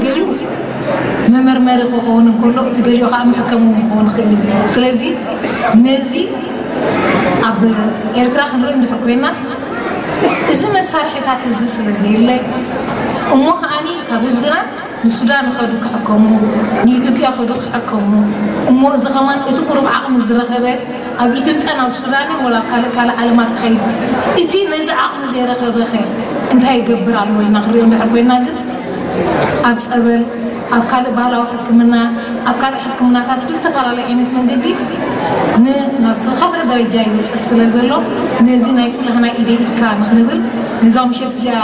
ገሊኡ መመርመሪ ክኸውን እንከሎ፣ እቲ ገሊኡ ከዓ መሕከሚ እውን ክኸውን ይኽእል እዩ። ስለዚ ነዚ ኣብ ኤርትራ ክንርኢ እንድሕር ኮይናስ፣ እዚ መሳርሒታት እዚ ስለ ዘየለ፣ እሞ ከዓኒ ካብ ህዝብና ንሱዳን ኸዱ ክሕከሙ፣ ንኢትዮጵያ ኸዱ ክሕከሙ፣ እሞ እዚ ኸማን እቲ ቁሩብ ዓቕሚ ዝረኸበ ኣብ ኢትዮጵያ ናብ ሱዳንን ወላ ኣብ ካልእ ካልእ ዓለማት ክኸይድ፣ እቲ ነዚ ዓቕሚ ዘይረኸበ ኸ እንታይ ይገብር ኣሎ ኢልና ክንሪኦ እንድሕር ኮይና ግን፣ ኣብ ጸበል፣ ኣብ ካልእ ባህላዊ ሕክምና፣ ኣብ ካልእ ሕክምናታት ብዝተፈላለየ ዓይነት መንገዲ ን-፣ ናብቲ ዝኸፍአ ደረጃ ይበጽሕ ስለ ዘሎ፣ ነዚ ናይ ኩላህና ኢደ ኢድካ ንኽንብል፣ ነዛ ምሸት እዚኣ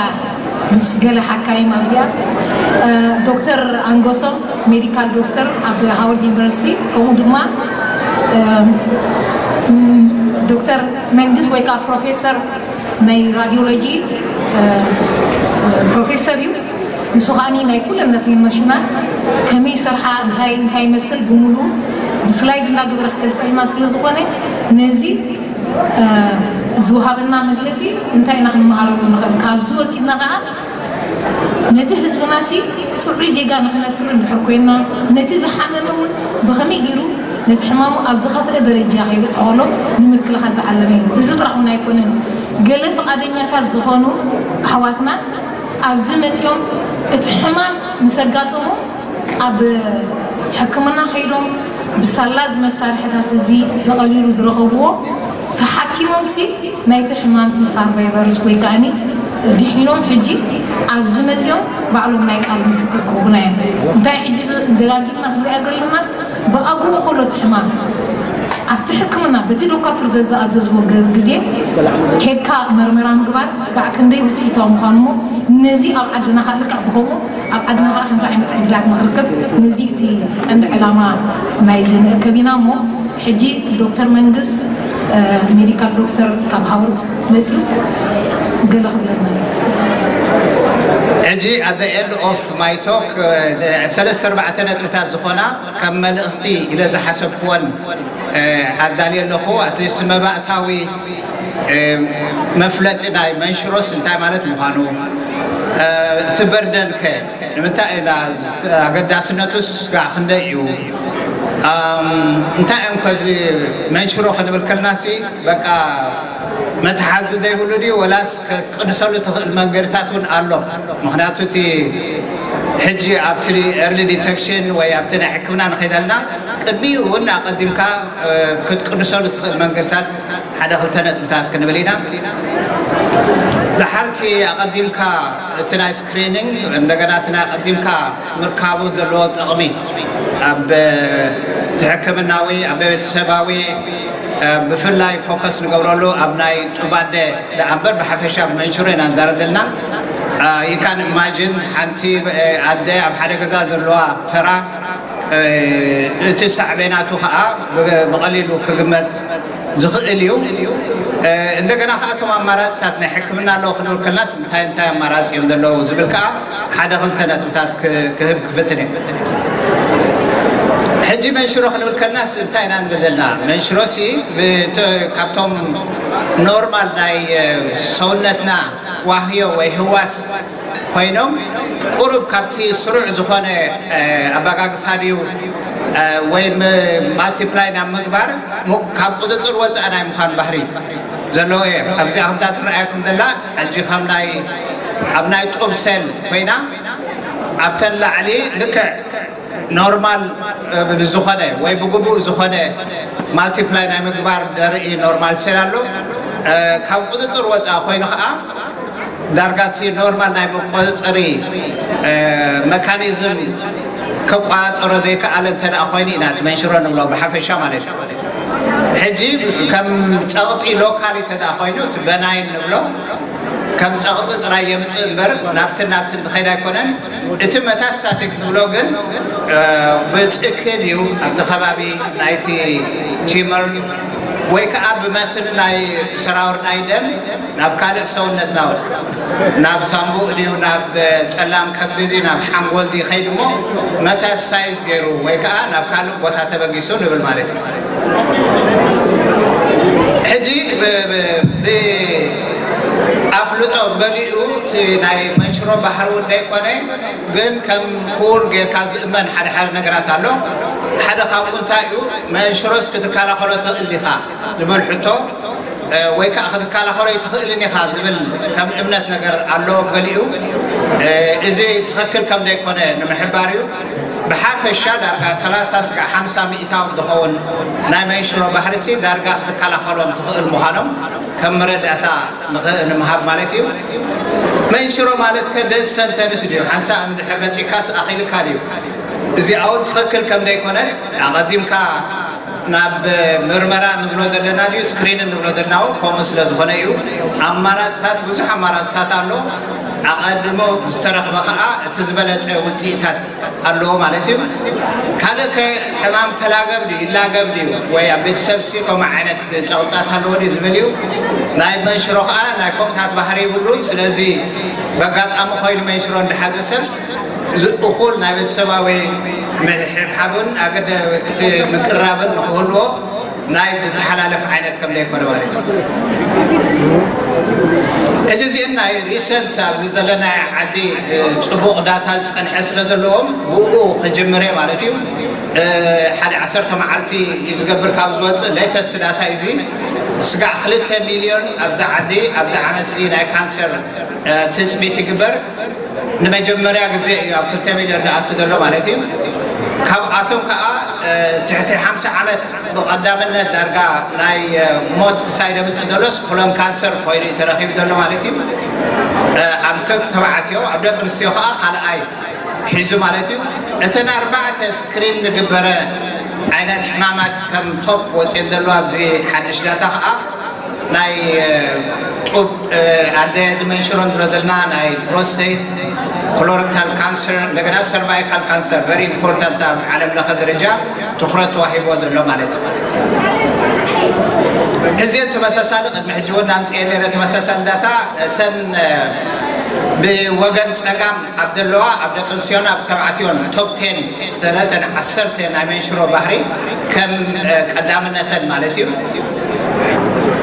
ምስ ገለ ሓካይም ኣብዚኣ፣ እ፣ ዶክተር ኣንጎሶም፣ ሜዲካል ዶክተር ኣብ ሃዋርድ ዩኒቨርሲቲ፣ ከምኡ ድማ፣ እ፣ ም፣ ዶክተር መንግስ ወይ ከዓ ፕሮፌሰር ናይ ራዲዮሎጂ፣ እ፣ ፕሮፌሰር እዩ። ንሱ ከዓኒ ናይ ኩለን ነተን መሽናት ከመይ ይሰርሓ፣ እንታይ፣ እንታይ ይመስል ብምሉኡ ብስላይድ እናገበረ ክገልጸልና ስለ ዝኾነ፣ ነዚ፣ እ፣ ዝወሃበና መግለጺ እንታይ ኢና ክንመሃረሉ ንኽእል? ካብዚ ወሲድና ከኣ ነቲ ህዝብናሲ ጽዑይ ዜጋ ንኽነፍሪ እንድሕር ኮይና፣ ነቲ ዝሓመመ እውን ብኸመይ ገይሩ ነቲ ሕማሙ ኣብ ዝኸፍአ ደረጃ ከይበጽሖ ከሎ ንምክልኻል ዝዓለመ እዩ። እዚ ጥራሕ እውን ኣይኮነን። ገለ ፍቓደኛታት ዝኾኑ ኣሕዋትና ኣብዚ መጺኦም እቲ ሕማም ምስ ኣጋጠሙ ኣብ ሕክምና ከይዶም ብሳላ እዚ መሳርሕታት እዚ ብቐሊሉ ዝረኸብዎ ተሓኪሞምሲ ናይቲ ሕማምቲ ሳርቫይቨርስ ወይ ከዓኒ ድሒኖም ሕጂ ኣብዚ መጺኦም ባዕሎም ናይ ቃል ምስክር ክህቡና እዮም። እንታይ ሕጂ ዝ-፣ ደጋጊምና ክንሪኣ ዘለናስ ብኣግኡ ከሎ እቲ ሕማም ኣብቲ ሕክምና በቲ ዶካትር ዘዝኣዘዝዎ ገ-፣ ግዜ ኬድካ መርመራ ምግባር ስጋዕ ክንደይ ውፅኢታዊ ምዃኑ እሞ ነዚ ኣብ ዓድና ከዓ ልክዕ ብኸምኡ ኣብ ዓድና ከዓ ከምዚ ዓይነት ዕድላት ንኽርከብ ነዚ እቲ ቀንዲ ዕላማ ናይዚ ንእከብ ኢና እሞ ሕጂ ዶክተር መንግስ፣ እ፣ ሜዲካል ዶክተር ካብ ሃዋርድ መፅዩ ገለ ክብለና እዩ። ሕጂ at the end of my talk፣ እ፣ ሰለስተ ኣርባዕተ ነጥብታት ዝኾና ከም መልእኽቲ ኢለ ዝሓሰብክወን፣ እ፣ ኣዳልየ ኣለኹ። ኣትሊስት መባእታዊ፣ እ፣ መፍለጢ ናይ መንሽሮስ እንታይ ማለት ምዃኑ፣ እ፣ እቲ በርደን ከ ንምንታይ ኢና፣ ኣገዳስነቱስ ጋዕ ክንደይ እዩ? ኣም፣ እንታይ እዮም ከዚ መንሽሮ ክንብል ከልናሲ በቃ መትሓዚ ዘይብሉ ድዩ ወላስ ክትቅንሰሉ ትኽእል መንገድታት እውን ኣሎ? ምኽንያቱ እቲ ሕጂ ኣብቲ ኤርሊ ዲተክሽን ወይ ኣብቲ ናይ ሕክምና ንኸይደልና ቅድሚኡ እውን ኣቐዲምካ፣ እ፣ ክትቅንሰሉ ትኽእል መንገድታት ሓደ ክልተ ነጥብታት ክንብል ኢና። ድሓርቲ ኣቐዲምካ እቲ ናይ ስክሪኒንግ እንደገና እቲ ናይ ኣቐዲምካ ምርካቡ ዘለዎ ጥቕሚ ኣብ፣ እ፣ እቲ ሕክምናዊ፣ ኣብ ቤተሰባዊ፣ እ፣ ብፍላይ ፎከስ ንገብረሉ ኣብ ናይ ጡባደ ደኣ እምበር ብሓፈሻ ብመንሽሮ ኢና ንዛረብ ዘለና። እ፣ you can imagine ሓንቲ፣ እ፣ ኣደ ኣብ ሓደ ገዛ ዘለዋ ተራ፣ እ፣ እቲ ሳዕቤናቱ ኸዓ ብ-፣ ብቐሊሉ ክግመት ዝኽእል እዩ። እ፣ እንደገና ኸዓ እቶም ኣማራፅታት ናይ ሕክምና ኣለዉ ክንብል ከለናስ እንታይ እንታይ ኣማራፂ እዮም ዘለዉ ዝብል ከኣ ሓደ ክልተ ነጥብታት ክ-፣ ክህብ ክፍትን እየ። ሕጂ መንሽሮ ክንብል ከለናስ እንታይ ኢና ንብል ዘለና? መንሽሮሲ ብተ-፣ ካብቶም ኖርማል ናይ፣ እ፣ ሰውነትና ዋህዮ ወይ ህዋስ ኮይኖም ቁሩብ ካብቲ ስሩዕ ዝኾነ፣ እ፣ ኣበጋግሳ ድዩ፣ እ፣ ወይ ም-፣ ማልቲፕላይ ናብ ምግባር ሙ-፣ ካብ ቁፅፅር ወፃእ ናይ ምዃን ባህሪ ዘለዎ እየ። ኣብዚኣ ከምዛ ትረኣየኩም ዘላ ሕጂ ከም ናይ፣ ኣብ ናይ ጡብ ሴል ኮይና ኣብተን ላዕሊ ልክዕ ኖርማል፣ እ፣ ብዝኾነ ወይ ብግቡእ ዝኾነ ማልቲፕላይ ናይ ምግባር ደርኢ ኖርማል ሴል ኣሎ። እ፣ ካብ ቁፅፅር ወፃእ ኮይኑ ከዓ ዳርጋ እቲ ኖርማል ናይ መቆፃፀሪ፣ እ፣ መካኒዝም ክቆፃፀሮ ዘይከኣለ እንተ ደኣ ኮይኑ ኢና እቲ መንሽሮ ንብሎ ብሓፈሻ ማለት እዩ። ሕጂ ከም ፀቕጢ ሎካሊ እንተ ደኣ ኮይኑ እቲ በናይን ንብሎ ከም ፀቕጢ ጥራይ የምፅእ እምበር ናብትን ናብትን ዝኸይድ ኣይኮነን። እቲ መታስታቲክ ንብሎ ግን፣ እ፣ ብትእክል እዩ ኣብቲ ከባቢ ናይቲ ቲመር ወይ ከዓ ብመትኒ ናይ ሰራውር ናይ ደም ናብ ካልእ ሰውነትና፣ ናብ ሳምቡእ ድዩ፣ ናብ ጸላም ከብዲ ድዩ፣ ናብ ሓንጎል ድዩ ከይዱ እሞ መታስታይዝ ገይሩ ወይ ከዓ ናብ ካልእ ቦታ ተበጊሱ ንብል ማለት እዩ። ሕጂ ብ-፣ ብ-፣ ብኣፍልጦ ገሊኡ እቲ ናይ መንሽሮ ባህሪ እውን ዘይኮነ፣ ግን ከም ክቡር ጌርካ ዝእመን ሓደ ሓደ ነገራት ኣሎ። ሓደ ካብኡ እንታይ እዩ? መንሽሮስ ክትከላኸሎ ትኽእል ኢኻ ዝብል ሕቶ፣ እ፣ ወይ ከዓ ክትከላኸሎ ኣይትኽእልን ኢኻ ዝብል ከም እምነት ነገር ኣሎ ገሊኡ። እ፣ እዚ ትኽክል ከም ዘይኮነ ንምሕባር እዩ። ብሓፈሻ ዳርጋ ሰላሳ ስጋዕ ሓምሳ ሚእታዊ ዝኸውን ናይ መንሽሮ ባህርሲ ዳርጋ ክትከላኸሎም ትኽእል ምዃኖም ከም መረዳእታ ንኽ-፣ ንምሃብ ማለት እዩ። መንሽሮ ማለት ከ ደስ ሰንተንስ ድዩ? ሓንሳእ እንድሕር መጺካስ ኣኺልካ ድዩ? እዚኣ እውን ትኽክል ከም ዘይኮነ ኣቐዲምካ ናብ ምርመራ ንብሎ ዘለና ድዩ ስክሪን ንብሎ ዘለና እውን ከምኡ ስለ ዝኾነ እዩ። ኣማራፅታት፣ ብዙሕ ኣማራፅታት ኣሎ። ኣቐድሞ ዝተረኽበ ከዓ እቲ ዝበለፀ ውፅኢታት ኣለዎ ማለት እዩ። ካልእ ከ ሕማም ተላገብ ድዩ ይላገብ ድዩ ወይ ኣብ ቤተሰብ ሲ ከምኡ ዓይነት ጸቕጣት ኣለዎ ድዩ ዝብል እዩ። ናይ መንሽሮ ከዓ ናይ ከምኡታት ባህሪ ይብሉን። ስለዚ በጋጣሚ ኮይኑ መንሽሮ እንድሓዘ ሰብ እዚ እኹል ናይ ቤተሰባዊ ምሕብሓብን ኣገደ እቲ ምቅራብን ንክህልዎ ናይ ዝተሓላለፍ ዓይነት ከም ዘይኮነ ማለት እዩ። ሕጂ እዚአን ናይ ሪሰንት ኣብዚ ዘለና ዓዲ፣ እ፣ ጽቡቕ ዳታ ዝጸንሐ ስለ ዘለዎም ብኡ ክጅምር እየ ማለት እዩ። እ፣ ሓደ ዓሰርተ መዓልቲ እዩ ዝገብር ካብ ዝወጽእ ሌተስት ዳታ እዩ እዚ። ስጋዕ ክልተ ሚልዮን ኣብዚ ዓዲ ኣብዚ ዓመት እዚ ናይ ካንሰር፣ እ፣ ትጽቢት ይግበር። ንመጀመርያ ግዜ እዩ ኣብ ክልተ ሚልዮን ዝኣቱ ዘሎ ማለት እዩ። ካብኣቶም ከዓ፣ እ፣ ትሕቲ ሓምሳ ዓመት ብቐዳምነት ዳርጋ ናይ፣ እ፣ ሞት ክሳይ ዘምፅእ ዘሎስ ኮሎን ካንሰር ኮይኑ እዩ ተረኺቡ ዘሎ ማለት እዩ። እ፣ ኣብ ደቂ ተባዕትዮ፣ ኣብ ደቂ ኣንስትዮ ከዓ ካልኣይ ሒዙ ማለት እዩ። እተን ኣርባዕተ ስክሪን ንግበረ ዓይነት ሕማማት ከም ቶፕ ወፅየን ዘሎ ኣብዚ ሓድሽ ዳታ ከዓ ናይ፣ እ፣ ጡብ፣ እ፣ ኣደ ዲመንሽሮ ንብሎ ዘለና ናይ ፕሮስቴት፣ ኮሎረክታል ካንሰር፣ እንደገና ሰርቫይካል ካንሰር፣ ቨሪ ኢምፖርታንት ኣብ ዓለም ለኸ ደረጃ ትኹረት ተዋሂቦ ዘሎ ማለት እዩ። እዚ ተመሳሳሊ ቅድሚ ሕጂ እውን ኣምፅኤ ነይረ ተመሳሳሊ ዳታ እተን፣ እ፣ ብወገን ፀጋም ኣብ ዘለዋ ኣብ ደቂ ኣንስትዮን ኣብ ተባዕትዮን ቶፕ ቴን ዘለተን ዓሰርተ ናይ መንሽሮ ባህሪ ከም፣ እ፣ ቀዳምነተን ማለት እዩ።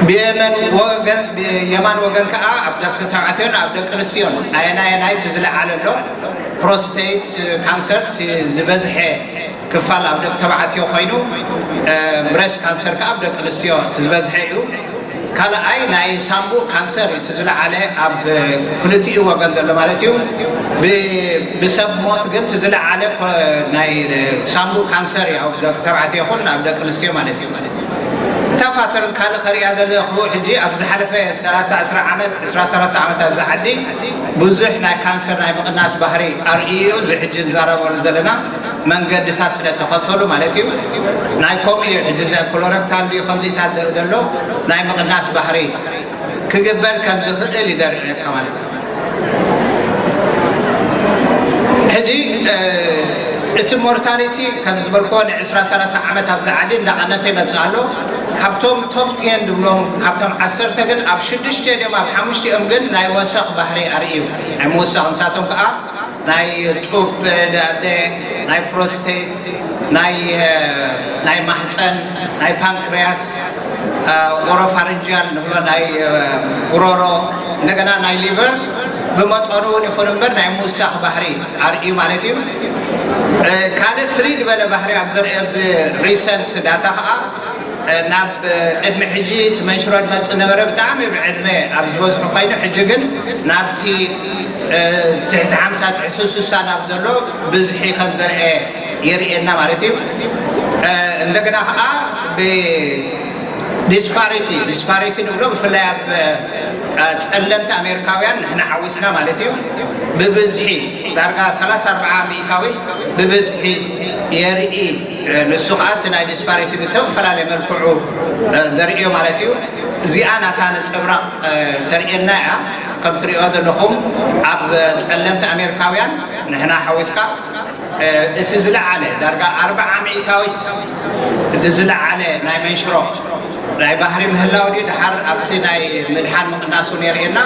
ብየመን ወገን፣ ብየማን ወገን ከዓ ኣብ ደቂ ተባዕትዮን ኣብ ደቂ ኣንስትዮን ኣየናየናይ እቲ ዝለዓለ ኣሎ? ፕሮስቴት ካንሰር እቲ ዝበዝሐ ክፋል ኣብ ደቂ ተባዕትዮ ኮይኑ፣ እ፣ ብሬስት ካንሰር ከዓ ኣብ ደቂ ኣንስትዮ እቲ ዝበዝሐ እዩ። ካልኣይ ናይ ሳምቡእ ካንሰር እዩ እቲ ዝለዓለ ኣብ ክልቲኡ ወገን ዘሎ ማለት እዩ። ብ-፣ ብሰብ ሞት ግን እቲ ዝለዓለ ኮ-፣ ናይ ሳምቡእ ካንሰር እዩ ኣብ ደቂ ተባዕትዮ ይኹን ኣብ ደቂ ኣንስትዮ ማለት እዩ። እታ ፓተርን ካልእ ከርእያ ዘለኹ ሕጂ ኣብ ዝሓለፈ ሰላሳ ዕስራ ዓመት፣ ዕስራ ሰላሳ ዓመት ኣብዚ ዓዲ ብዙሕ ናይ ካንሰር ናይ ምቕናስ ባህሪ ኣርእዩ እዩ። እዚ ሕጂ ንዛረበሉ ዘለና መንገድታት ስለ ተኸተሉ ማለት እዩ። ናይ ከምኡ እዩ ሕጂ እዚ ኮሎረክታል ድዩ ከምዚታት ዘርኢ ዘሎ ናይ ምቕናስ ባህሪ ክግበር ከም ዝኽእል ይደርዕካ ማለት እዩ። ሕጂ፣ እ፣ እቲ ሞርታሊቲ ከም ዝበልክዎ ንዕስራ ሰላሳ ዓመት ኣብዚ ዓዲ እንዳቐነሰ ይመጽእ ኣሎ። ካብቶም ቶፕ ቴን ዝብሎም ካብቶም ዓሰርተ ግን ኣብ ሽዱሽተ ድዮም ኣብ ሓሙሽቲኦም ግን ናይ ወሰኽ ባህሪ ኣርእዩ ናይ ምውሳኽ ንሳቶም ከዓ ናይ ጡብ፣ ዳደ፣ ናይ ፕሮስቴት፣ ናይ፣ እ፣ ናይ ማህፀን፣ ናይ ፓንክርያስ፣ እ፣ ኦሮፋሪንጂያል ንብሎ ናይ፣ እ፣ ጉሮሮ፣ እንደገና ናይ ሊቨር ብመጠኑ እውን ይኹን እምበር ናይ ምውሳኽ ባህሪ ኣርእዩ ማለት እዩ። እ፣ ካልእ ፍልይ ዝበለ ባህሪ ኣብ ዘርኢ ኣብዚ ሪሰንት ዳታ ከዓ፣ እ፣ ናብ፣ እ፣ ቅድሚ ሕጂ እቲ መንሽሮ ዝመፅእ ነበረ ብጣዕሚ ብዕድመ ኣብ ዝበዝሑ ኮይኑ ሕጂ ግን ናብቲ፣ እ፣ ትሕቲ ሓምሳ ትሕቲ ስሳ ናብ ዘሎ ብዝሒ ከም ዘርአ የርእየና ማለት እዩ። እ፣ እንደገና ከዓ ብ-፣ ዲስፓሪቲ፣ ዲስፓሪቲ ንብሎ ብፍላይ ኣብ፣ እ፣ ጸለምቲ ኣሜሪካውያን ንሕና ሓዊስና ማለት እዩ። ብብዝሒ ዳርጋ ሰላሳ ኣርባዓ ሚእታዊት ብብዝሒ የርኢ። እ፣ ንሱ ከዓ እቲ ናይ ዲስፓሪቲ ብተፈላለየ መልክዑ፣ እ፣ ዘርእዮ ማለት እዩ። እዚኣ ናታ ነጸብራቕ፣ እ፣ ተርእየና እያ። ከም ትርእዮ ዘለኹም ኣብ ጸለምቲ ኣሜሪካውያን ንሕና ሓዊስካ እ፣ እቲ ዝለዓለ ዳርጋ ኣርባዓ ሚእታዊት እቲ ዝለዓለ ናይ መንሽሮ ናይ ባህሪ ምህላው ድዩ ድሓር ኣብቲ ናይ ምድሓን ምቕናሱ ነርእየና።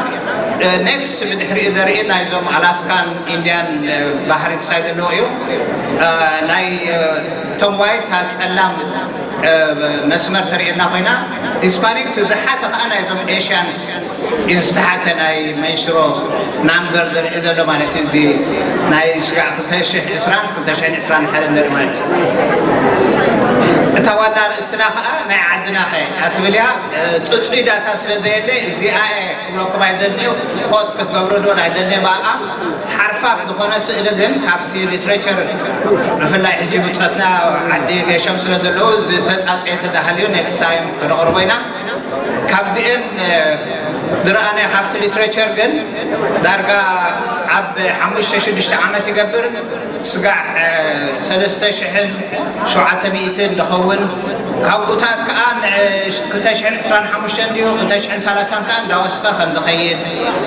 እ፣ ኔክስት ብድሕሪኡ ዘርኢ ናይዞም ኣላስካን ኢንድያን፣ እ፣ ባህሪ ክሳይ ዘለዎ እዩ። እ፣ ናይ፣ እ፣ እቶም ዋይት እታ ጸላም መስመር ተርእየና ኮይና፣ ሂስፓኒክ ትዝሓተ ከዓ ናይዞም ኤሽያንስ እዩ ዝተሓተ ናይ መንሽሮ ናምበር ዘርኢ ዘሎ ማለት እዩ። እዚ ናይ ስጋዕ ክልተ ሽሕ ዕስራን ክልተ ሽሕን ዕስራን ሓደን ዘርኢ ማለት እዩ። እታ ዋና ርእስትና ከዓ ናይ ዓድና ከ ኣትብል እያ። ፅፁይ ዳታ ስለ ዘየለ እዚኣ እየ ክብለኩም ኣይደልንዩ። ኮት ክትገብሩ ዶ ኣይደልንየ ብኣኣ ሓርፋፍ ዝኾነ ስእሊ ግን ካብቲ ሊትሬቸር ብፍላይ ሕጂ ብፀትና ዓዲ ገሸም ስለ ዘለዉ ዝተፃፀየ ተዳሃልዩ ኔክስት ታይም ከነቕርቦ ኢና። ካብዚአን ዝረኣናዮ ካብቲ ሊትሬቸር ግን ዳርጋ ኣብ ሓሙሽተ ሽዱሽተ ዓመት ይገብር ስጋዕ ሰለስተ ሽሕን ሸውዓተ ሚእትን ዝኸውን ካብኡታት ከዓ ክልተ ሽሕን ዕስራን ሓሙሽተን ድዩ ክልተ ሽሕን ሰላሳን ከዓ እንዳወስኸ ከም ዝኸይድ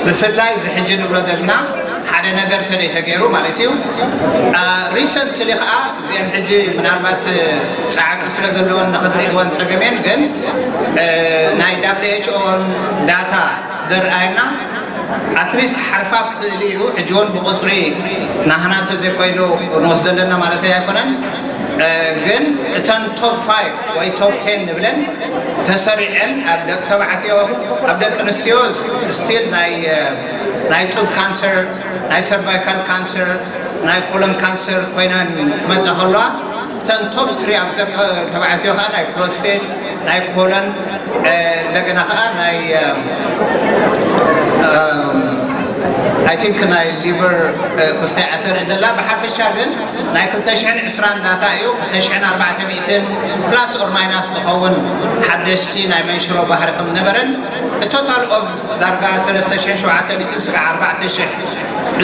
ብፍላይ እዚ ሕጂ ንብሎ ዘለና ሓደ ነገር ተደይ ተገይሩ ማለት እዩ። ሪሰንትሊ ከዓ እዚአን ሕጂ ምናልባት ፃዕቂ ስለ ዘለዎን ንክትርእይዎን ፀገሜን ግን ናይ ዳብሊው ኤች ኦን ዳታ ዘርኣየና ኣትሊስት ሓርፋፍ ስእሊ እዩ። ሕጂ እውን ብቁፅሪ ናህና እንተዘይኮይኑ ንወስዶ ኣለና ማለት ኣይኮነን። ግን እተን ቶፕ ፋይቭ ወይ ቶፕ ቴን ንብለን ተሰሪዐን ኣብ ደቂ ተባዕትዮ ኣብ ደቂ ኣንስትዮ ስቲል ናይ ናይ ጡብ ካንሰር ናይ ሰርቫይካል ካንሰር ናይ ኮለን ካንሰር ኮይነን ክመፃ ከለዋ እተን ቶፕ ትሪ ኣብ ደቂ ተባዕትዮ ከዓ ናይ ፕሮስቴት ናይ ኮለን እንደገና ከዓ ናይ I think ናይ ሊቨር ክስታይ ኣተር ደላ ብሓፈሻ ግን ናይ ክልተ ሽሕን ዕስራን ዳታ እዩ። ክልተ ሽሕን ኣርባዕተ ሚእትን ፕላስ ኦር ማይናስ ትኸውን ሓደሽቲ ናይ መንሽሮ ባህሪ ከም ነበረን ቶታል ኦፍ ዳርጋ ሰለስተ ሽሕን ሸውዓተ ሚእትን ስጋዕ ኣርባዕተ ሽሕ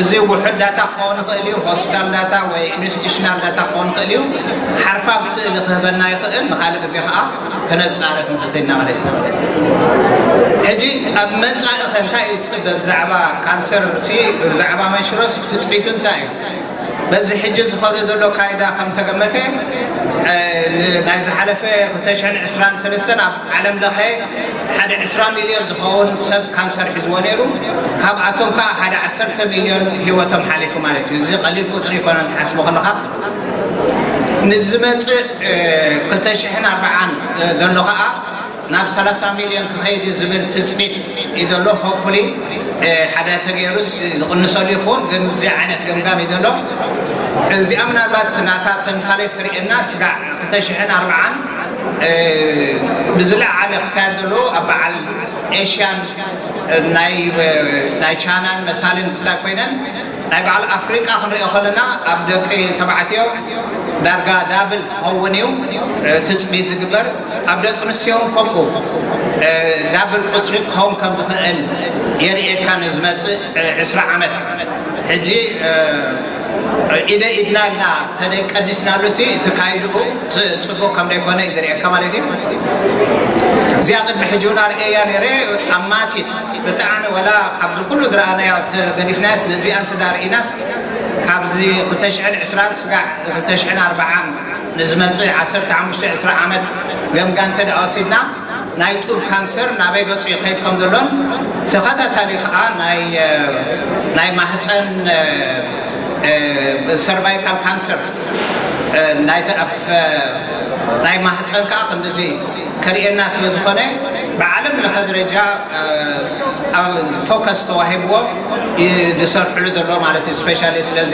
እዚ ውሑድ ዳታ ክኸውን ይኽእል እዩ። ሆስፒታል ዳታ ወይ ኢንስቲቱሽናል ዳታ ክኸውን ይኽእል እዩ። ሓርፋፍ ስእሊ ክህበና ይኽእል። ንካልእ ግዜ ከዓ ከነፃርፍ ንኽእል ኢና ማለት እዩ። ሕጂ ኣብ መፃኢ ከ እንታይ እዩ ትፅበ ብዛዕባ ካንሰር ሲ ብዛዕባ መንሽሮስ ትፅቢቱ እንታይ እዩ? በዚ ሕጂ ዝኸደ ዘሎ ካይዳ ከም ተገመተ ናይ ዝሓለፈ ክልተ ሽሕን ዕስራን ሰለስተን ኣብ ዓለም ለኸ ሓደ ዕስራ ሚልዮን ዝኸውን ሰብ ካንሰር ሒዝዎ ነይሩ። ካብኣቶም ከዓ ሓደ ዓሰርተ ሚልዮን ህይወቶም ሓሊፉ ማለት እዩ። እዚ ቀሊል ቁፅሪ ይኮነን ትሓስቦ ከለካ ንዝመፅእ ክልተ ሽሕን ኣርባዓን ዘሎ ከዓ ናብ ሰላሳ ሚልዮን ክኸይድ እዩ ዝብል ትፅቢት እዩ ዘሎ። ሆፕፉሊ ሓደ ተገይሩስ ዝቕንሰሉ ይኹን ግን እዚ ዓይነት ገምጋም እዩ ዘሎ። እዚኣ ምናልባት ናታ ተምሳሌት ትርእየና ስጋዕ ክልተ ሽሕን ኣርባዓን ብዝለዓለ ክሳየድ ዘለዎ ኣብ በዓል ኤሽያን ናይ ቻይናን መሳልን ክሳይ ኮይነን ናይ በዓል ኣፍሪቃ ክንሪኦ ከለና ኣብ ደቂ ተባዕትዮ ዳርጋ ዳብል ክኸውን እዩ ትፅቢት ዝግበር። ኣብ ደቂ ኣንስትዮ እውን ከምኡ ዳብል ቁፅሪ ክኸውን ከም ዝኽእል የርእየካ ንዝመፅእ ዕስራ ዓመት። ሕጂ ኢደ ኢድና ኢልና ተደይ ቀዲስናሉ ሲ እቲ ካይድኡ ጽቡቅ ከም ዘይኮነ እዩ ዝርእየካ ማለት እዩ። እዚኣ ቅድሚ ሕጂ እውን ኣርእየያ ነይረ። ኣማቲት ብጣዕሚ ወላ ካብዚ ኩሉ ዝረኣናዮ ተገዲፍናያስ ነዚኣ እንተዳርኢናስ ካብዚ ክልተ ሽሕን ዕስራን ስጋዕ ክልተ ሽሕን ኣርባዓን ንዝመጽእ ዓሰርተ ሓሙሽተ ዕስራ ዓመት ገምጋም እንተ ደኣ ወሲድና ናይ ጡብ ካንሰር ናበይ ገጹ ይኸይድ ከም ዘሎን ተኸታታሊ ከዓ ናይ ናይ ማህፀን ሰርቫይካል ካንሰር ናይ ማህፀን ከዓ ከምዚ ከርእየና ስለ ዝኾነ ብዓለም ለኸ ደረጃ ፎከስ ተዋሂብዎ ዝሰርሕሉ ዘሎ ማለት እዩ። ስፔሻሊ ስለዚ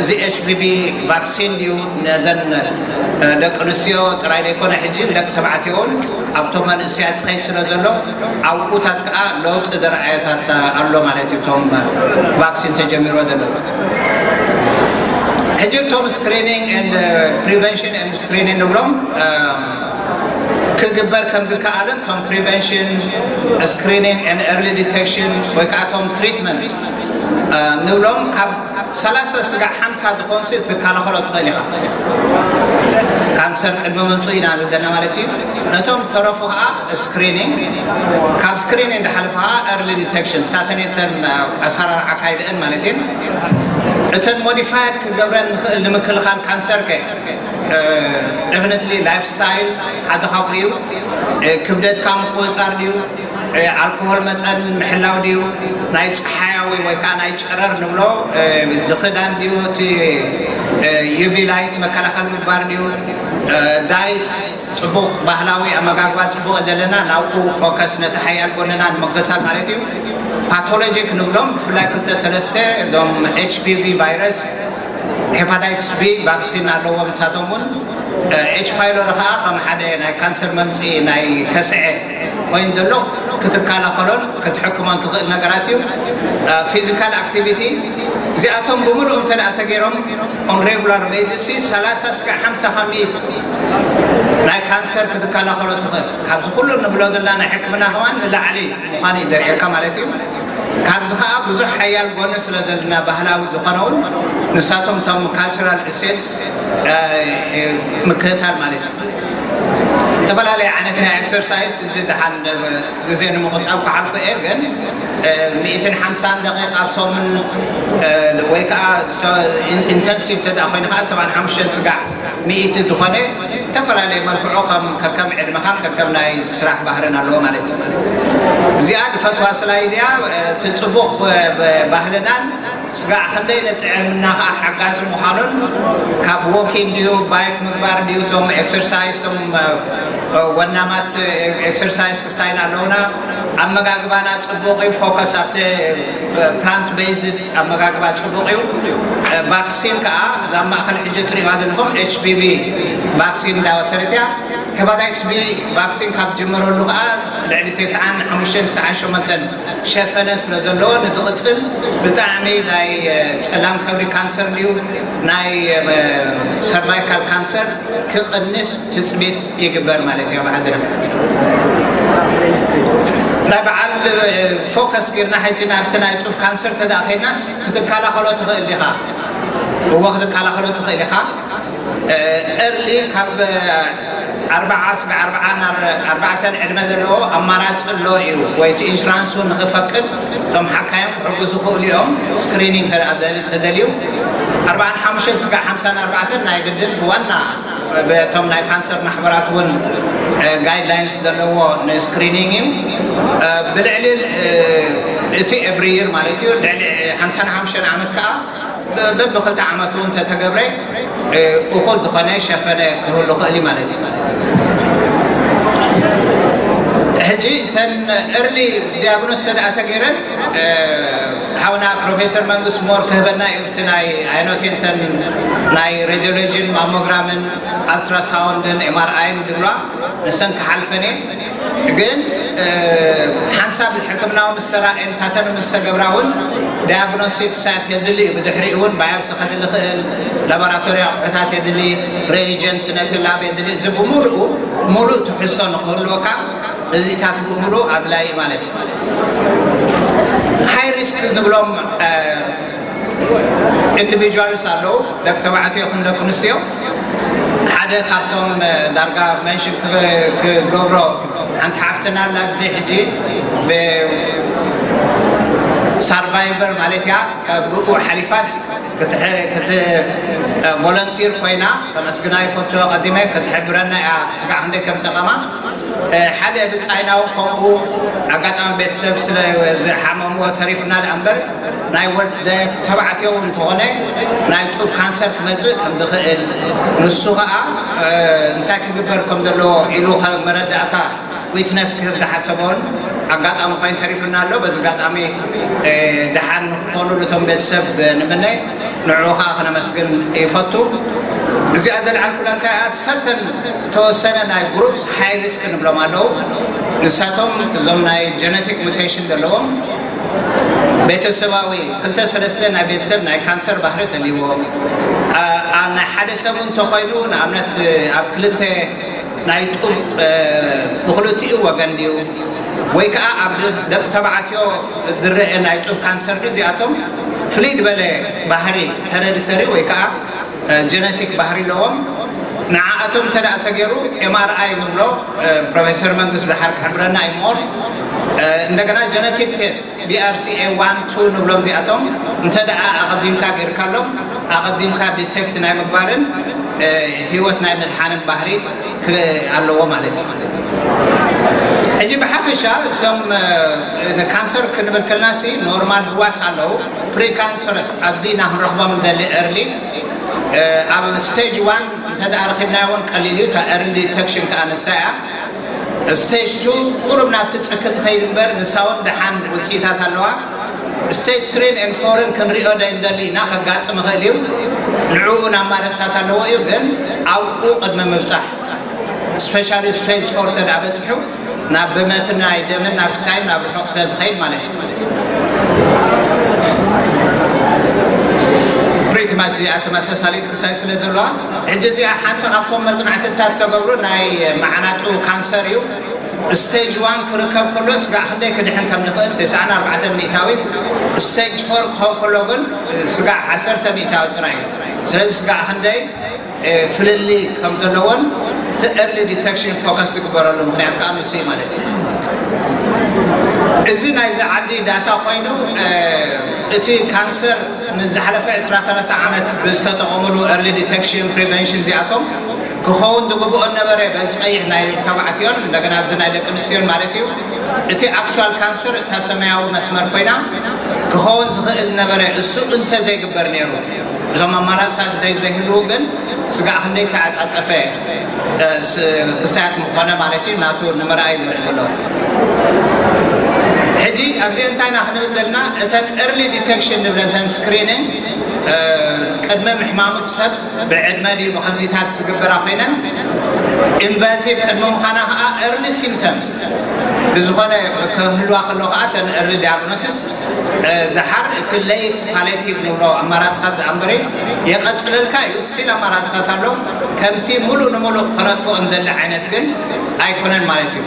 እዚ ኤች ፒ ቪ ቫክሲን ድዩ ነዘን ደቂ ኣንስትዮ ጥራይ ዘይኮነ ሕጂ ደቂ ተባዕትዮ እውን ኣብቶም መንእሰያት ከይድ ስለ ዘሎ ኣብኡታት ከዓ ለውጢ ዝረኣየታት ኣሎ ማለት እዩ። እቶም ቫክሲን ተጀሚሮ ዘሎ ሕጂ እቶም ስክሪኒንግ ፕሪቨንሽን ስክሪኒንግ ንብሎም ክግበር ከም ዝከኣልን እቶም ፕሪቨንሽን ስክሪኒንግ ኤርሊ ዲቴክሽን ወይ ከዓ እቶም ትሪትመንት ንብሎም ካብ ሰላሳ ስጋዕ ሓምሳ ዝኾንሲ ክትከላኸሎ ትኽእል ኢኻ። ካንሰር ቅድሚ ምምፁ ኢና ዘለና ማለት እዩ። ነቶም ተረፉ ከዓ ስክሪኒንግ ካብ ስክሪኒንግ ዝሓለፈ ከዓ ኤርሊ ዲቴክሽን ሳተኔተን ኣሰራርዓ ካይድአን ማለት እዩ። እተን ሞዲፋይድ ክገብረን ንኽእል ንምክልኻል ካንሰር ከ ደፍነትሊ ላይፍ ስታይል ሓደ ካብኡ እዩ። ክብደትካ ምቁፅፃር ድዩ? ኣልኮሆል መጠን ምሕላው ድዩ? ናይ ፀሓያዊ ወይ ከዓ ናይ ጨረር ንብሎ፣ ድኽዳን ድዩ፣ እቲ ዩቪ ላይት መከላኸል ምግባር ድዩ፣ ዳይት፣ ፅቡቕ ባህላዊ ኣመጋግባ ፅቡቕ ዘለና ናብኡ ፎከስ፣ ነቲ ሓያል ጎንና ንምክታል ማለት እዩ። ፓቶሎጂክ ንብሎም ብፍላይ ክልተ ሰለስተ እዞም ኤች ፒ ቪ ቫይረስ፣ ሄፓታይትስ ቢ ቫክሲን ኣለዎም። ንሳቶም እውን ኤች ፓይሎሪ ከዓ ከም ሓደ ናይ ካንሰር መምፅኢ ናይ ከስዐ ኮይኑ ዘሎ ክትከላኸሎን ክትሕክሞን ትኽእል ነገራት እዩ። ፊዚካል ኣክቲቪቲ፣ እዚኣቶም ብምሉእ እንተ ደኣ ተገይሮም ኦን ሬጉላር ቤዝስ ሰላሳ እስከ ሓምሳ ካብ ሚእቲ ናይ ካንሰር ክትከላኸሎ ትኽእል። ካብዚ ኩሉ ንብሎ ዘለና ናይ ሕክምና ከማን ንላዕሊ ምዃኑ እዩ ዘርእየካ ማለት እዩ። ካብዚ ከዓ ብዙሕ ሓያል ጎኒ ስለ ዘለና ባህላዊ ዝኾነውን ንሳቶም እቶም ካልቸራል እሴትስ ምክትታል ማለት እዩ። ዝተፈላለየ ዓይነት ናይ ኤክሰርሳይዝ፣ እዚ ደሓን ግዜ ንምቕጣብ ክሓልፎ እየ፣ ግን ሚእትን ሓምሳን ደቂቃ ኣብ ሰሙን ወይ ከዓ ኢንተንሲቭ ተዳ ኮይኑ ከዓ ሰብዓን ሓሙሽተን ስጋዕ ሚእቲ ዝኾነ ዝተፈላለየ መልክዑ ከም ከከም ዕድመኻን ከከም ናይ ስራሕ ባህርን ኣለዎ ማለት እዩ። እዚኣ ዝፈትዋ ስላይድ እያ። እቲ ፅቡቕ ባህልናን ስጋዕ ክንደይ ንጥዕና ከዓ ሓጋዚ ምዃኑን ካብ ዎኪንግ ድዩ ባይክ ምግባር ድዩ እቶም ኤክሰርሳይዝ እቶም ወናማት ኤክሰርሳይዝ ክስታይል ኣለውና። ኣመጋግባና ፅቡቕ እዩ። ፎከስ ኣብቲ ፕላንት ቤዝድ ኣመጋግባ ፅቡቕ እዩ። ቫክሲን ከዓ እዛ ማእኸል ሕጂ ትሪእዋ ዘለኹም ኤች ፒ ቪ ቫክሲን እንዳወሰደት እያ። ሄፓታይትስ ቢ ቫክሲን ካብ ዝጀመረሉ ከዓ ልዕሊ ተስዓን ሓሙሽተን ተስዓን ሸሞንተን ሸፈነ ስለ ዘለዎ ንዝቕፅል ብጣዕሚ ናይ ፀላም ከብዲ ካንሰር ድዩ ናይ ሰርቫይካል ካንሰር ክቕንስ ትፅቢት ይግበር ማለት እዩ። ኣብ ዓድና ናይ በዓል ፎከስ ጌርና ሕጂ ናብቲ ናይ ጡብ ካንሰር ተደኣ ኸይድናስ ክትከላኸሎ ትኽእል ዲኻ? እዎ ክትከላኸሎ ትኽእል ኢኻ። ኤርሊ ካብ ኣርባዓ ስጋዕ ኣርባዓ ናብ ኣርባዕተን ዕድመ ዘለዎ ኣማራፂ ኣሎ እዩ። ወይ እቲ ኢንሹራንስ እውን ንኽፈቅድ እቶም ሓካዮም ክሕግዙ ይኽእሉ እዮም። ስክሪኒንግ ተደልዩ ኣርባዓን ሓሙሽተን ስጋዕ ሓምሳን ኣርባዕተን ናይ ግድን እቲ ዋና በቶም ናይ ካንሰር ማሕበራት እውን ጋይድላይንስ ዘለዎ ንስክሪኒንግ እዩ። ብልዕሊ እቲ ኤቭሪ ይር ማለት እዩ። ልዕሊ ሓምሳን ሓሙሽተን ዓመት ከዓ በብክልተ ዓመቱ እንተተገብረ እኹል ዝኾነ ሸፈነ ክህሉ ክእል እዩ ማለት እዩ። ሕጂ እተን ኤርሊ ዲያግኖስ ተደኣ ተገይረን ሓውና ፕሮፌሰር መንግስት ሞር ክህበና እዩ። እቲ ናይ ኣይኖቴንተን ናይ ሬዲዮሎጂን ማሞግራምን ኣልትራሳውንድን ኤምኣርኣይን ድብሏ ንሰን ክሓልፈን እየ። ግን ሓንሳብ ሕክምናዊ ምስ ተራእየ ንሳተን ምስ ተገብራ እውን ዳያግኖስቲክ ሳይት የድሊ እዩ። ብድሕሪኡ እውን ባዮፕሲ ከድሊ ክእል፣ ላቦራቶሪ ኣቑሑታት የድሊ፣ ሬጀንት ነቲ ላብ የድሊ። እዚ ብምሉኡ ሙሉእ ትሕዝቶ ንክህልወካ እዚታት ብምሉእ ኣድላይ ማለት እዩ። ሃይ ሪስክ ንብሎም ኢንዲቪጁዋልስ ኣለዉ፣ ደቂ ተባዕትዮ ይኹን ደቂ ኣንስትዮ። ሓደ ካብቶም ዳርጋ መንሽን ክገብሮ ሓንቲ ሓፍትና ኣላ ኣብዚ ሕጂ ሳርቫይቨር ማለት እያ። ካብ ብኡ ሓሊፋስ ቮለንቲር ኮይና ከመስግና ይፈቱ። ቀዲመ ክትሕብረና እያ ስጋዕ ክንደይ ከም ጠቐማ። ሓደ ብጻይና እውን ከምኡ ኣጋጣሚ ቤተሰብ ስለ ዝሓመምዎ ተሪፍና ደኣ እምበር ናይ ወደ ተባዕትዮ እውን እንተኾነ ናይ ጡብ ካንሰር ክመጽእ ከም ዝኽእል፣ ንሱ ኸኣ እንታይ ክግበር ከም ዘለዎ ኢሉ መረዳእታ ዊትነስ ክህብ ዝሓሰቦን ኣጋጣሚ ኮይኑ ተሪፍና ኣሎ። በዚ ኣጋጣሚ ደሓን ንክኾኑ እቶም ቤተሰብ ንምነ፣ ንዕኡ ከዓ ክነመስግን ይፈቱ። እዚኣ ዘልዓልኩላ እንታይ እያ? ሰርተን ተወሰነ ናይ ግሩፕስ ሃይ ሪስክ ንብሎም ኣለዉ። ንሳቶም እዞም ናይ ጀነቲክ ሙቴሽን ዘለዎም ቤተሰባዊ ክልተ ሰለስተ ናይ ቤተሰብ ናይ ካንሰር ባህሪ ተልይዎ፣ ናይ ሓደ ሰብ እውን እንተኮይኑ ንኣብነት ኣብ ክልተ ናይ ጡብ ብክልቲኡ ወገን ድዩ ወይ ከዓ ኣብ ደቂ ተባዕትዮ ዝረአ ናይ ጡብ ካንሰር ድዩ? እዚኣቶም ፍልይ ዝበለ ባህሪ ሄረዲተሪ ወይ ከዓ ጀነቲክ ባህሪ ኣለዎም። ንዓኣቶም እንተ ደኣ ተገይሩ ኤምኣርኣይ ንብሎ ፕሮፌሰር መንግስት ድሓር ክሕብረና እዩ ሞር። እንደገና ጀነቲክ ቴስት ቢኣርሲኤ ዋን ቱ ንብሎም እዚኣቶም እንተ ደኣ ኣቐዲምካ ገይርካሎም ኣቐዲምካ ዲቴክት ናይ ምግባርን ህይወት ናይ ምድሓንን ባህሪ ኣለዎ ማለት እዩ። ሕጂ ብሓፈሻ እዞም ንካንሰር ክንብል ከልና ሲ ኖርማል ህዋስ ኣለዉ፣ ፕሪካንሰርስ ኣብዚ ኢና ክንረኽቦም እንደሊ ኤርሊ ኣብ ስቴጅ ዋን እንተ ረኺብናዮ እውን ቀሊል እዩ። እታ ኤርሊ ዲቴክሽን ከዓ ንሳ እያ። ስቴጅ ቱ ቁሩብ ናብቲ ጽኪ ትኸይድ እምበር ንሳ እውን ደሓን ውፅኢታት ኣለዋ። ስቴጅ ስሪን ኤን ፎርን ክንሪኦ ዶ እንደሊ ኢና፣ ከጋጥም ይኽእል እዩ። ንዕኡ ናብ ማረሳት ኣለዎ እዩ፣ ግን ኣብኡ ቅድሚ ምብፃሕ ስፔሻሊ ስቴጅ ፎር ተዳ በፅሑ ናብ ብመትን ናይ ደምን ናብ ክሳይን ናብ ርሑቕ ስለ ዝኸይድ ማለት እዩ። ፕሪቲ ማች እዚኣ ተመሳሳሊት ክሳይ ስለ ዘለዋ ሕጂ እዚኣ ሓንቲ ካብቶም መፅናዕትታት ተገብሩ ናይ መዓናጡ ካንሰር እዩ። ስቴጅ ዋን ክርከብ ከሎ ስጋዕ ክንደይ ክድሕን ከም ንኽእል ተስዓን ኣርባዕተን ሚእታዊት፣ ስቴጅ ፎር ክኸውን ከሎ ግን ስጋዕ ዓሰርተ ሚእታዊት ጥራይ እዩ። ስለዚ ስጋዕ ክንደይ ፍልልይ ከም ዘለዎን እቲ ኤርሊ ዲቴክሽን ፎከስ ዝግበረሉ ምክንያት ከዓ ንሱ እዩ ማለት እዩ። እዚ ናይዚ ዓዲ ዳታ ኮይኑ እቲ ካንሰር ንዝሓለፈ ዕስራ ሰላሳ ዓመት ብዝተጠቐሙሉ ኤርሊ ዲቴክሽን ፕሪቨንሽን እዚኣቶም ክኸውን ዝግብኦ ነበረ በዚ ቀይሕ ናይ ተባዕትዮን እንደገና ኣብዚ ናይ ደቂ ኣንስትዮን ማለት እዩ። እቲ ኣክቹዋል ካንሰር እታ ሰማያዊ መስመር ኮይና ክኸውን ዝኽእል ነበረ እሱ እንተ ዘይግበር ነይሩ እዞም ኣማራፅታት እንተይ ዘይህልዉ ግን ስጋዕ ክንደይ ተዓፃፀፈ ክስታያት ምኾነ ማለት እዩ ናቱ ንምርኣይ ንርኢ ኣሎ። ሕጂ ኣብዚ እንታይ ኢና ክንብል ዘለና? እተን ኤርሊ ዲቴክሽን ንብለን እተን ስክሪኒንግ ቅድሚ ምሕማሙት ሰብ ብዕድመ ድዩ ብከምዚታት ዝግበራ ኮይነን ኢንቫሲቭ ቅድሚ ምዃና ከዓ ኤርሊ ሲምፕተምስ ብዝኾነ ክህልዋ ከሎ ከዓ እተን ኤርሊ ዲያግኖሲስ ድሓር እቲ ለይት ፓሌቲቭ ንብሎ ኣማራፅታት እምበሪ የቐፅለልካ እዩ። ስቲል ኣማራፅታት ኣሎ። ከምቲ ሙሉእ ንሙሉእ ከነጥፍኦ እንደሊ ዓይነት ግን ኣይኮነን ማለት እዩ።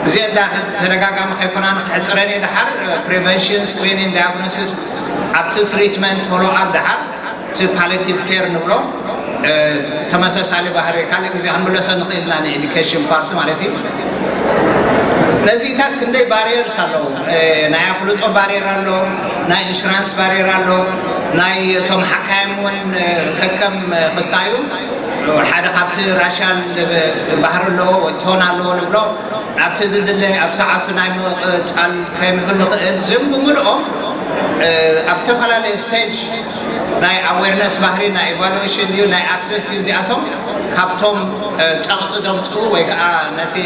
እዚ እንዳ ተደጋጋሚ ከይኮና ንክሕፅረን እዩ። ድሓር ፕሪቨንሽን ስክሪኒንግ ዳያግኖሲስ ኣብቲ ትሪትመንት ፎሎ ኣፕ ድሓር እቲ ፓሌቲቭ ኬር ንብሎ ተመሳሳሊ ባህሪ ካልእ ግዜ ክንምለሶ ንኽእል ኢና ንኤዱኬሽን ፓርቲ ማለት እዩ። ነዚታት ክንደይ ባሪየርስ ኣለዉ። ናይ ኣፍልጦ ባሪየር ኣሎ፣ ናይ ኢንሹራንስ ባሪየር ኣሎ፣ ናይ እቶም ሓካይም እውን ከከም ክስታዩ ሓደ ካብቲ ራሽያን ባህሪ ኣለዎ ወይ ቶን ኣለዎ ንብሎ ኣብቲ ዝድለ ኣብ ሰዓቱ ናይ ምቕፃል ከይምህሉ ክእል ዝም ብምልኦም ኣብ ዝተፈላለዩ ስቴጅ ናይ ኣዌርነስ ባህሪ ናይ ኢቫሉዌሽን ድዩ ናይ ኣክሰስ ድዩ እዚኣቶም ካብቶም ፀቕጢ ዘምፅኡ ወይ ከዓ ነቲ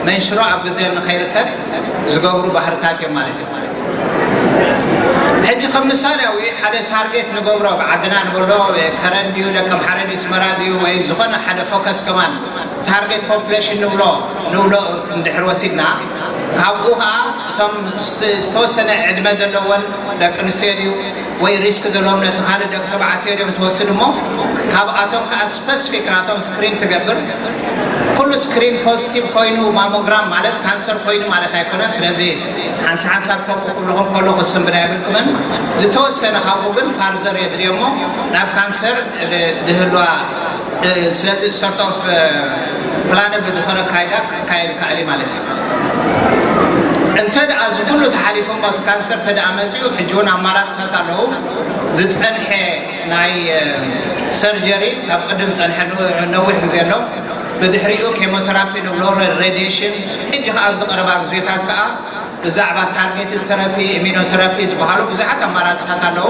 መንሽሮ ኣብ ግዜ ንኸይርከብ ዝገብሩ ባህርታት እዮም ማለት እዩ። ሕጂ ከም ምሳሌያዊ ሓደ ታርጌት ንገብሮ ብዓድና ንበሎ ከረን ድዩ ደቀምሓረ ድዩ ስመራ ድዩ ወይ ዝኾነ ሓደ ፎከስ ከማን ታርጌት ፖፕሌሽን ንብሎ ንብሎ እንድሕር ወሲድና ካብኡ ከዓ እቶም ዝተወሰነ ዕድመ ዘለዎን ደቂ ኣንስትዮ ድዩ ወይ ሪስክ ዘለዎም ነቲ ካልእ ደቂ ተባዕትዮ ድዮም ትወስድ እሞ ካብኣቶም ከዓ ስፐሲፊክ ናቶም ስክሪን ትገብር። ኩሉ ስክሪን ፖዚቲቭ ኮይኑ ማሞግራም ማለት ካንሰር ኮይኑ ማለት ኣይኮነን። ስለዚ ሓንሳ ሓንሳብ ከምኡ ኩልኹም ከሎ ክስንብዳ የብልኩምን። ዝተወሰነ ካብኡ ግን ፋርዘር የድልዮ እሞ ናብ ካንሰር ድህልዋ ስለዚ ሰርት ኦፍ ፕላን ብዝኾነ ካይዳ ክካየድ ይከኣል እዩ ማለት እዩ። እንተ ደኣ እዚ ኩሉ ተሓሊፎም እቲ ካንሰር እንተ ደኣ መፂኡ ሕጂ እውን ኣማራፅታት ኣለዉ። ዝፀንሐ ናይ ሰርጀሪ ካብ ቅድም ፀንሐ ነዊሕ ግዜ ኣሎ። ብድሕሪኡ ኬሞቴራፒ ንብሎ ሬዲሽን ሕጂ ከዓ ኣብዚ ቀረባ ግዜታት ከዓ ብዛዕባ ታርጌትድ ተራፒ ኢሚኖቴራፒ ዝበሃሉ ብዙሓት ኣማራፅታት ኣለዉ።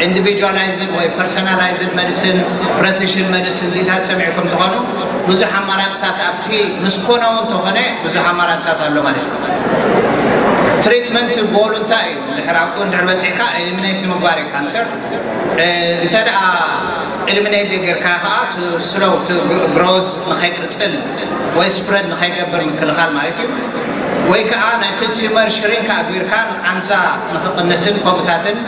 ኢንዲቪጁዋላይዝድ ወይ ፐርሶናላይዝድ መዲሲን ፕረሲሽን መዲሲን ዚታት ሰሚዕኩም ትኾኑ ብዙሕ ኣማራፅታት ኣብቲ ምስ ኮነ እውን ተኾነ ብዙሕ ኣማራፅታት ኣሎ ማለት እዩ። ትሪትመንት ጎሉ እንታይ እዩ? ድሕር ኣብኡ እንድሕር በፂሕካ ኤሊሚኔት ንምግባር እዩ ካንሰር። እንተ ደኣ ኤሊሚኔት ጌርካ ከዓ ስሎው ግሮዝ ንኸይቅፅል ወይ ስፕረድ ንኸይገብር ምክልኻል ማለት እዩ። ወይ ከዓ ነቲ ቲመር ሽሪንክ ኣግቢርካ ንቃንዛ ንክቕንስን ከምኡታትን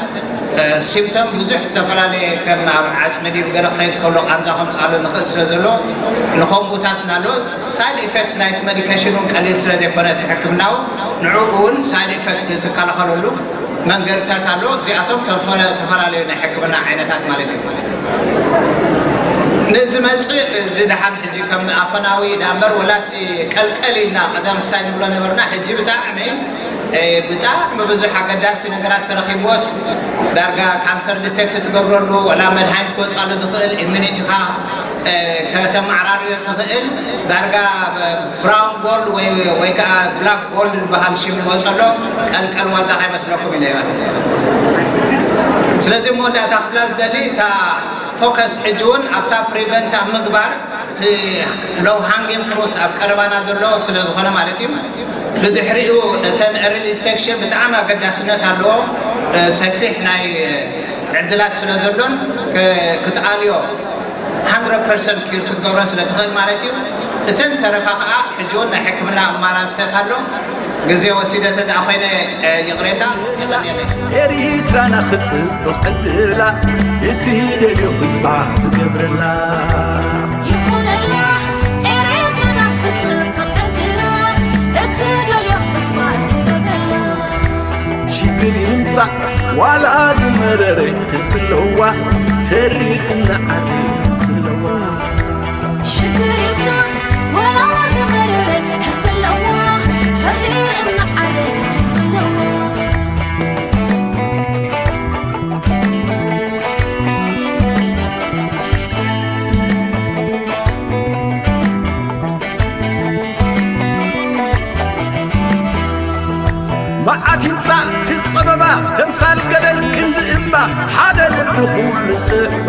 ሲምፕቶም ብዙሕ ዝተፈላለየ ከም ኣብ ዓፅሚ ድዩ ገለ ክኸይድ ከሎ ቃንዛ ከምፅኣሉ ንኽእል ስለ ዘሎ ንኸምኡታት እናሎ ሳይድ ኢፌክት ናይቲ ሜዲኬሽን እውን ቀሊል ስለ ዘይኮነ እቲ ሕክምናው ንዕኡ እውን ሳይድ ኢፌክት ትከላኸለሉ መንገድታት ኣሎ። እዚኣቶም ተፈላለዩ ናይ ሕክምና ዓይነታት ማለት እዩ። ንዝመፅእ እዚ ደሓን ሕጂ ከም ኣፈናዊ ዳእምበር ወላቲ ቀልቀል ኢልና ቀደም ክሳይ ንብሎ ነበርና። ሕጂ ብጣዕሚ ብጣዕሚ ብዙሕ ኣገዳሲ ነገራት ተረኺብዎስ፣ ዳርጋ ካንሰር ዲቴክት ትገብረሉ፣ ወላ መድሃኒት ክወፅኣሉ ዝኽእል ኢሚኒቲኻ ከተመዓራርዮ ትኽእል፣ ዳርጋ ብራውን ጎልድ ወይ ወይ ከዓ ብላክ ጎልድ ዝበሃል ሽም ዝወፀሎ ቀልቀል ዋዛ ከይመስለኩም ኢለ ማለት። ስለዚ መወዳእታ ክብላ ዝደሊ፣ እታ ፎከስ ሕጂ እውን ኣብታ ፕሪቨንት ኣብ ምግባር፣ እቲ ሎው ሃንጊንግ ፍሩት ኣብ ቀረባና ዘሎ ስለ ዝኾነ ማለት እዩ። ብድሕሪኡ እተን ኤርሊ ዲቴክሽን ብጣዕሚ ኣገዳስነት ኣለዎ። ሰፊሕ ናይ ዕድላት ስለ ዘሎን ክትኣልዮ ሃንድረድ ፐርሰንት ኪር ክትገብሮ ስለ ትኽእል ማለት እዩ። እተን ተረፋ ከዓ ሕጂ እውን ናይ ሕክምና ኣማራፅታት ኣሎ። ግዜ ወሲደ ተዝኣ ኮይነ ይቕሬታ። ኤሪትራና ክጽብቕ ዕድላ፣ እቲ ደልዮ ህዝባ ዝገብረላ። ይኹነላ ኤሪትራና ክጽብቕ ዕድላ፣ እቲ ደልዮ ህዝባ ዝገብረላ። ሽግር ይምጻእ ዋላ ዝመረረ ህዝቢ ኣለዋ፣ ተሪር እናዓረ ህዝቢ ኣለዋ። ሽግር ይምጻእ ዋላ ዝመረረ ህዝቢ ኣለዋ፣ ተሪር እናዓረ ህዝቢ ኣለዋ። መዓት ይምጻእ እቲ ጸበባ፣ ተምሳል ገደል ክንዲ እምባ፣ ሓደ ልቢ ኩሉ ስዕባ።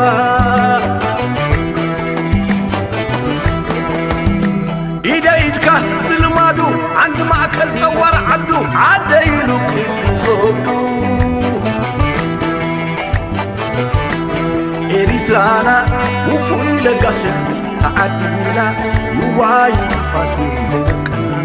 ኢደ ኢድካ ዝልማዱ፣ ዓንዲ ማእከል ጸዋር ዓዱ፣ ዓደ ኢሉ ቅድሚ ኸብዱ። ኤሪትራና ውፉይ ለጋስ ህዝቢ ተዓዲላ፣ ንዋይ ትንፋሱ ዘይበቀላ።